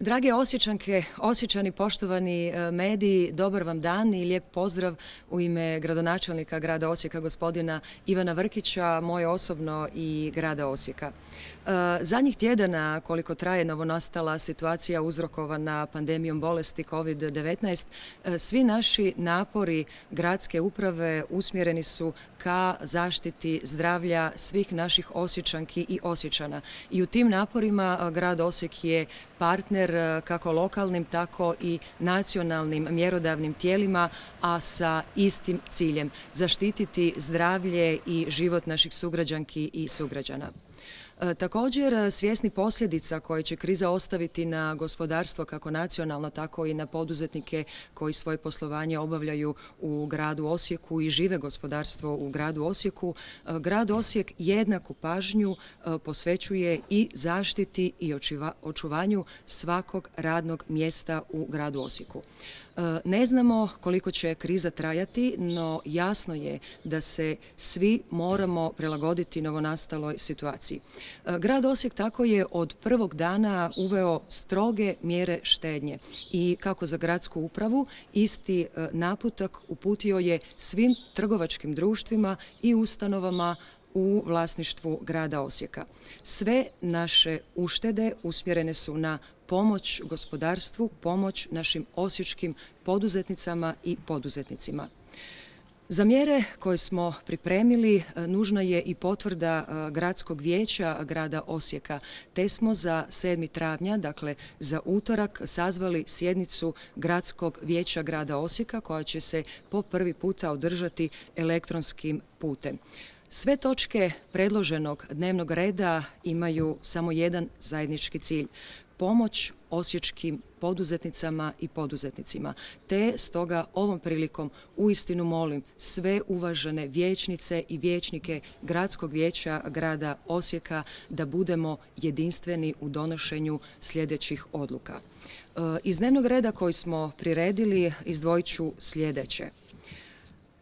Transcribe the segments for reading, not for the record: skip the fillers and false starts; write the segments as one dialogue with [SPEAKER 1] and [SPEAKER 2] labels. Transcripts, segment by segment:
[SPEAKER 1] Drage Osječanke, Osječani, poštovani mediji, dobar vam dan i lijep pozdrav u ime gradonačelnika grada Osijeka, gospodina Ivana Vrkića, moje osobno i grada Osijeka. Zadnjih tjedana, koliko traje novonastala situacija uzrokovana pandemijom bolesti COVID-19, svi naši napori gradske uprave usmjereni su ka zaštiti zdravlja svih naših Osječanki i Osječana. I u tim naporima grad Osijek je partner kako lokalnim, tako i nacionalnim mjerodavnim tijelima, a sa istim ciljem – zaštititi zdravlje i život naših sugrađanki i sugrađana. Također, svjesni posljedica koje će kriza ostaviti na gospodarstvo kako nacionalno, tako i na poduzetnike koji svoje poslovanje obavljaju u gradu Osijeku i žive gospodarstvo u gradu Osijeku, grad Osijek jednaku pažnju posvećuje i zaštiti i očuvanju svakog radnog mjesta u gradu Osijeku. Ne znamo koliko će kriza trajati, no jasno je da se svi moramo prilagoditi novonastaloj situaciji. Grad Osijek tako je od prvog dana uveo stroge mjere štednje i kako za gradsku upravu isti naputak uputio je svim trgovačkim društvima i ustanovama u vlasništvu grada Osijeka. Sve naše uštede usmjerene su na pomoć gospodarstvu, pomoć našim osječkim poduzetnicama i poduzetnicima. Za mjere koje smo pripremili nužna je i potvrda gradskog vijeća grada Osijeka, te smo za 7. travnja, dakle za utorak, sazvali sjednicu gradskog vijeća grada Osijeka koja će se po prvi puta održati elektronskim putem. Sve točke predloženog dnevnog reda imaju samo jedan zajednički cilj – pomoć osječkim poduzetnicama i poduzetnicima. Te stoga ovom prilikom uistinu molim sve uvažene vijećnice i vijećnike gradskog vijeća grada Osijeka da budemo jedinstveni u donošenju sljedećih odluka. Iz dnevnog reda koji smo priredili izdvojit ću sljedeće.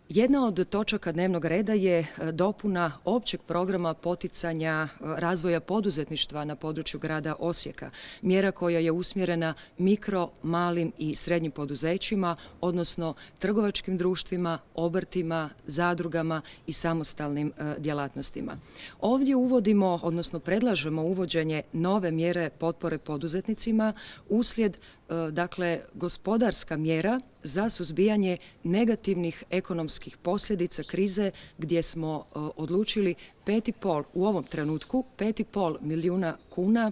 [SPEAKER 1] Jedna od točaka dnevnog reda je dopuna općeg programa poticanja razvoja poduzetništva na području grada Osijeka. Mjera koja je usmjerena mikro, malim i srednjim poduzećima, odnosno trgovačkim društvima, obrtima, zadrugama i samostalnim djelatnostima. Ovdje uvodimo, odnosno predlažemo uvođenje nove mjere potpore poduzetnicima uslijed gospodarska mjera za suzbijanje negativnih ekonomskih posljedica krize gdje smo odlučili 5,5 u ovom trenutku 5,5 milijuna kuna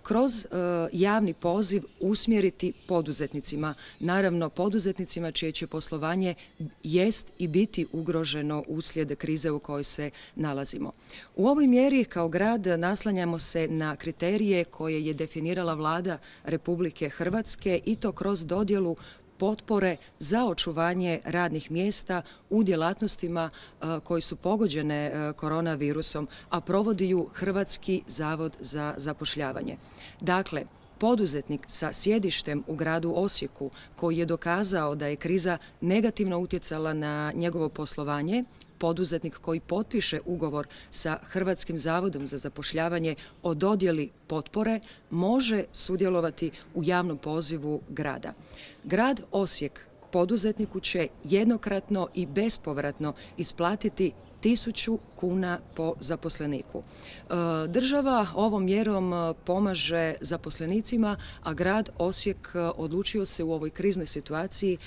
[SPEAKER 1] kroz javni poziv usmjeriti poduzetnicima. Naravno, poduzetnicima čije će poslovanje jest i biti ugroženo uslijed krize u kojoj se nalazimo. U ovoj mjeri kao grad naslanjamo se na kriterije koje je definirala Vlada Republike Hrvatske i to kroz dodjelu potpore za očuvanje radnih mjesta u djelatnostima koji su pogođene koronavirusom, a provodi ju Hrvatski zavod za zapošljavanje. Dakle, poduzetnik sa sjedištem u gradu Osijeku koji je dokazao da je kriza negativno utjecala na njegovo poslovanje, poduzetnik koji potpiše ugovor sa Hrvatskim zavodom za zapošljavanje o dodjeli potpore može sudjelovati u javnom pozivu grada. Grad Osijek poduzetniku će jednokratno i bespovratno isplatiti 1.000 kuna po zaposleniku. Država ovom mjerom pomaže zaposlenicima, a grad Osijek odlučio se u ovoj kriznoj situaciji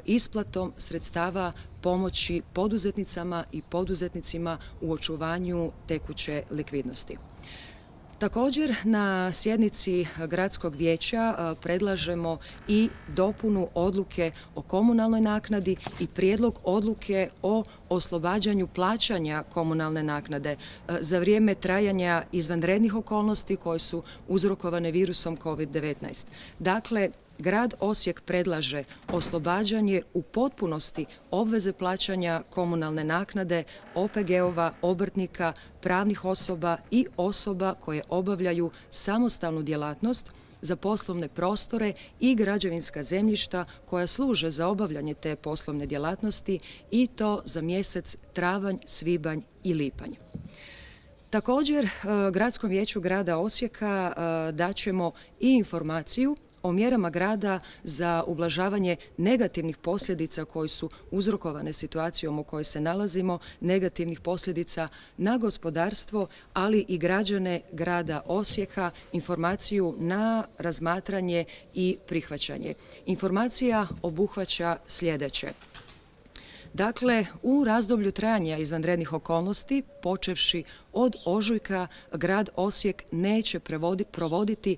[SPEAKER 1] isplatom sredstava pomoći poduzetnicama i poduzetnicima u očuvanju tekuće likvidnosti. Također, na sjednici gradskog vijeća predlažemo i dopunu odluke o komunalnoj naknadi i prijedlog odluke o oslobađanju plaćanja komunalne naknade za vrijeme trajanja izvanrednih okolnosti koje su uzrokovane virusom COVID-19. Dakle, grad Osijek predlaže oslobađanje u potpunosti obveze plaćanja komunalne naknade OPG-ova, obrtnika, pravnih osoba i osoba koje obavljaju samostalnu djelatnost za poslovne prostore i građevinska zemljišta koja služe za obavljanje te poslovne djelatnosti i to za mjesec travanj, svibanj i lipanj. Također, Gradskom vijeću grada Osijeka daćemo i informaciju o mjerama grada za ublažavanje negativnih posljedica koje su uzrokovane situacijom u kojoj se nalazimo, negativnih posljedica na gospodarstvo, ali i građane grada Osijeka, informaciju na razmatranje i prihvaćanje. Informacija obuhvaća sljedeće. Dakle, u razdoblju trajanja izvanrednih okolnosti, počevši od ožujka, grad Osijek neće provoditi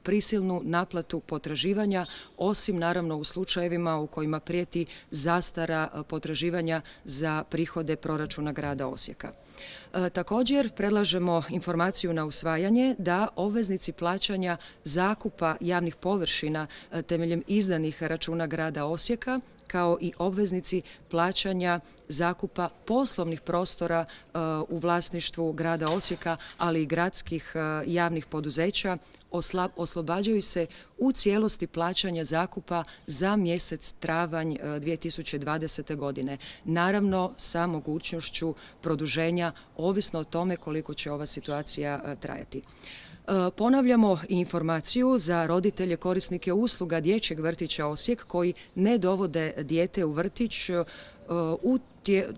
[SPEAKER 1] prisilnu naplatu potraživanja, osim naravno u slučajevima u kojima prijeti zastara potraživanja za prihode proračuna grada Osijeka. Također predlažemo informaciju na usvajanje da obveznici plaćanja zakupa javnih površina temeljem izdanih računa grada Osijeka, kao i obveznici plaćanja zakupa poslovnih prostora u vlasništvu grada Osijeka, ali i gradskih javnih poduzeća, oslobađaju se u cijelosti plaćanja zakupa za mjesec travanj 2020. godine. Naravno, sa mogućnošću produženja, ovisno o tome koliko će ova situacija trajati. Ponavljamo i informaciju za roditelje korisnike usluga Dječjeg vrtića Osijek koji ne dovode dijete u vrtić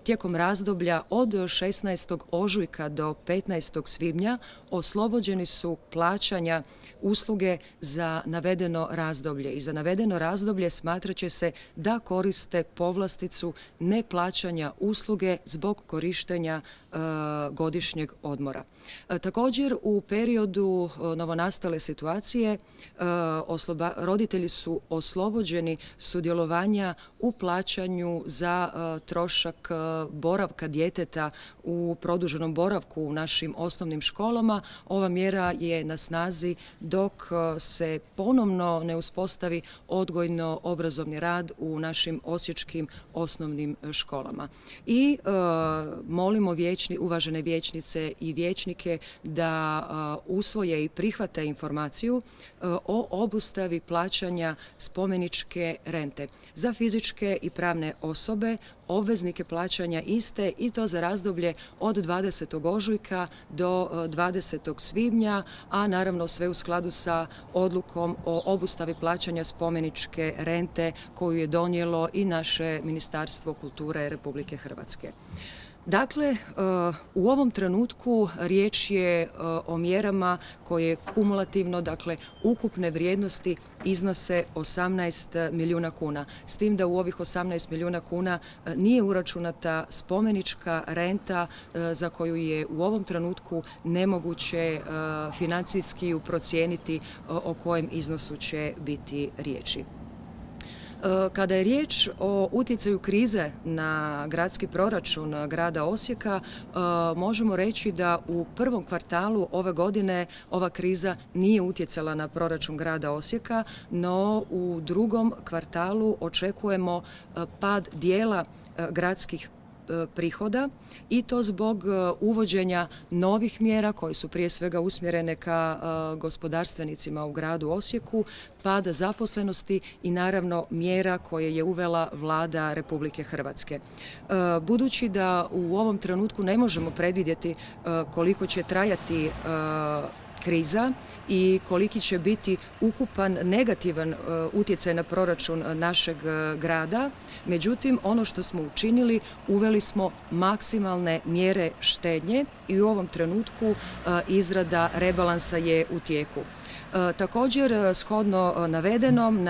[SPEAKER 1] tijekom razdoblja od 16. ožujka do 15. svibnja oslobođeni su plaćanja usluge za navedeno razdoblje. I za navedeno razdoblje smatrat će se da koriste povlasticu neplaćanja usluge zbog korištenja godišnjeg odmora. Također, u periodu novonastale situacije roditelji su oslobođeni sudjelovanja u plaćanju za trošak boravka djeteta u produženom boravku u našim osnovnim školama. Ova mjera je na snazi dok se ponovno ne uspostavi odgojno-obrazovni rad u našim osječkim osnovnim školama. I molimo uvažene vijećnice i vijećnike da usvoje i prihvate informaciju o obustavi plaćanja spomeničke rente za fizičke i pravne osobe, obveznike plaćanja iste, i to za razdoblje od 20. ožujka do 20. svibnja, a naravno sve u skladu sa odlukom o obustavi plaćanja spomeničke rente koju je donijelo i naše Ministarstvo kulture Republike Hrvatske. Dakle, u ovom trenutku riječ je o mjerama koje kumulativno, dakle, ukupne vrijednosti iznose 18 milijuna kuna. S tim da u ovih 18 milijuna kuna nije uračunata spomenička renta za koju je u ovom trenutku nemoguće financijski procijeniti o kojem iznosu će biti riječi. Kada je riječ o utjecaju krize na gradski proračun grada Osijeka, možemo reći da u prvom kvartalu ove godine ova kriza nije utjecala na proračun grada Osijeka, no u drugom kvartalu očekujemo pad dijela gradskih prihoda, i to zbog uvođenja novih mjera koje su prije svega usmjerene ka gospodarstvenicima u gradu Osijeku, pada zaposlenosti i naravno mjera koje je uvela Vlada Republike Hrvatske. Budući da u ovom trenutku ne možemo predvidjeti koliko će trajati kriza i koliki će biti ukupan negativan utjecaj na proračun našeg grada. Međutim, ono što smo učinili, uveli smo maksimalne mjere štednje i u ovom trenutku izrada rebalansa je u tijeku. Također, shodno navedenom,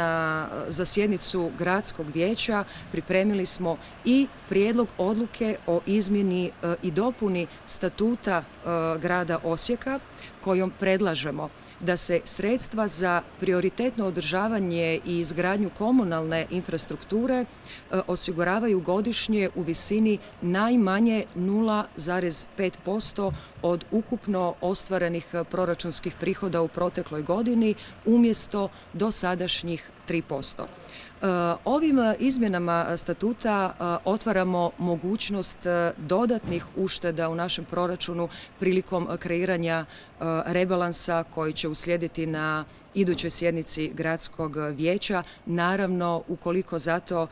[SPEAKER 1] za sjednicu gradskog vijeća pripremili smo i prijedlog odluke o izmjeni i dopuni statuta grada Osijeka, kojom predlažemo da se sredstva za prioritetno održavanje i izgradnju komunalne infrastrukture osiguravaju godišnje u visini najmanje 0,5% od ukupno ostvarenih proračunskih prihoda u protekloj godini umjesto dosadašnjih 3%. Ovim izmjenama statuta otvaramo mogućnost dodatnih ušteda u našem proračunu prilikom kreiranja rebalansa koji će uslijediti na idućoj sjednici gradskog vijeća, naravno ukoliko za to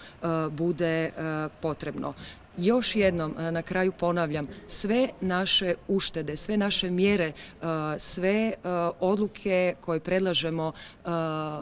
[SPEAKER 1] bude potrebno. Još jednom na kraju ponavljam, sve naše uštede, sve naše mjere, sve odluke koje predlažemo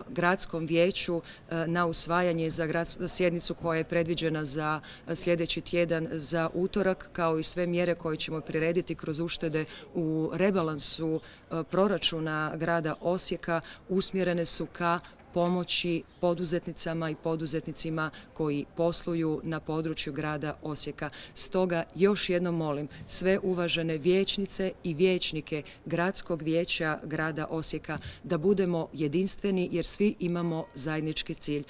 [SPEAKER 1] gradskom vijeću na usvajanje za sjednicu koja je predviđena za sljedeći tjedan za utorak, kao i sve mjere koje ćemo prirediti kroz uštede u rebalansu proračuna grada Osijeka, usmjerene su ka pomoći poduzetnicama i poduzetnicima koji posluju na području grada Osijeka. Stoga još jednom molim sve uvažene vijećnice i vijećnike Gradskog vijeća grada Osijeka da budemo jedinstveni jer svi imamo zajednički cilj: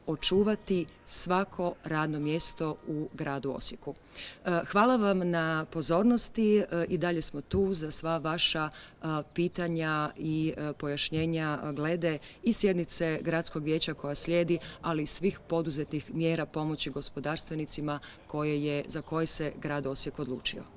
[SPEAKER 1] očuvati svako radno mjesto u gradu Osijeku. Hvala vam na pozornosti i dalje smo tu za sva vaša pitanja i pojašnjenja glede i sjednice Gradskog vijeća koja slijedi, ali i svih poduzetih mjera pomoći gospodarstvenicima za koje se grad Osijek odlučio.